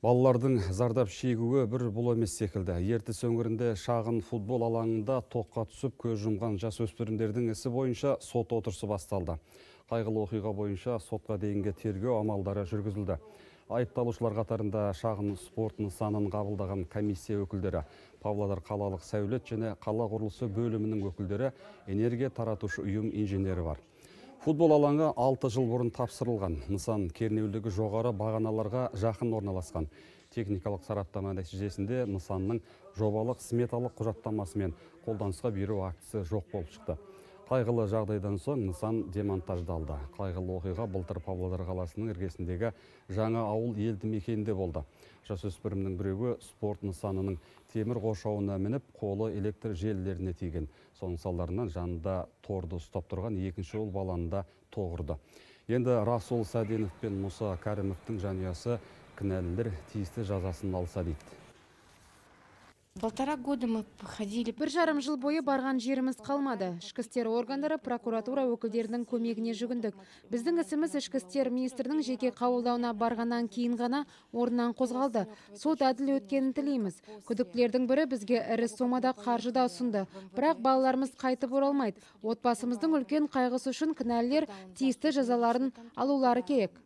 Балалардың зардап шегуі бір бұл емес секілді. Ертіс өңірінде шағын футбол алаңында тоққа түсіп көз жұмған жасөспірімдердің ісі бойынша сот отырысы басталды. Қайғылы оқиға бойынша сотқа дейінгі тергеу амалдары жүргізілді. Айыпталушылар қатарында шағын спорт нысанын қабылдаған комиссия өкілдері, Павлодар қалалық сәулет және қала құрылысы бөлімінің өкілдері, энергия таратушы ұйым инженері бар. Футбол алаңы 6 жыл бұрын тапсырылған. Нысан кернеулігі жоғары бағаналарға жақын орналасқан. Техникалық сараптама нәтижесінде нысанның жобалық сметалық құжаттамасы мен қолданысқа беру актісі жоқ болып шықты. Қайғылы жағдайдан соң нысан демонтаждалды. Қайғылы оқиға былтыр Павлодар қаласының іргесіндегі жаңа ауыл елді мекенінде болды. Жасөспірімнің біреуі спорт нысанының темір қоршауына мініп, қолы электр желілеріне тиген. Соның салдарынан жанында торды ұстап тұрған екінші ұл баланы да тоғырды. Енді Расул Сәденов пен Мұса Кәрімовтің жанұясы кінәлілер тиісті жазасын алса дейді. 1,5 года мы ходили. Бір жарым жыл бойы барған жеріміз қалмады. Ішкі істер органдары, прокуратура өкілдерінің көмегіне жүгіндік. Біздің ісіміз ішкі істер министрінің жеке қабылдауына барғаннан кейін ғана орнынан қозғалды. Сот әділ өткенін тілейміз. Күдіктілердің бірі бізге ірі сомада қаржы да ұсынды. Бірақ балаларымыз қайтып оралмайды. Отбасымыздың үлкен қайғысы үшін кінәлілер тиісті жазаларын алулары керек.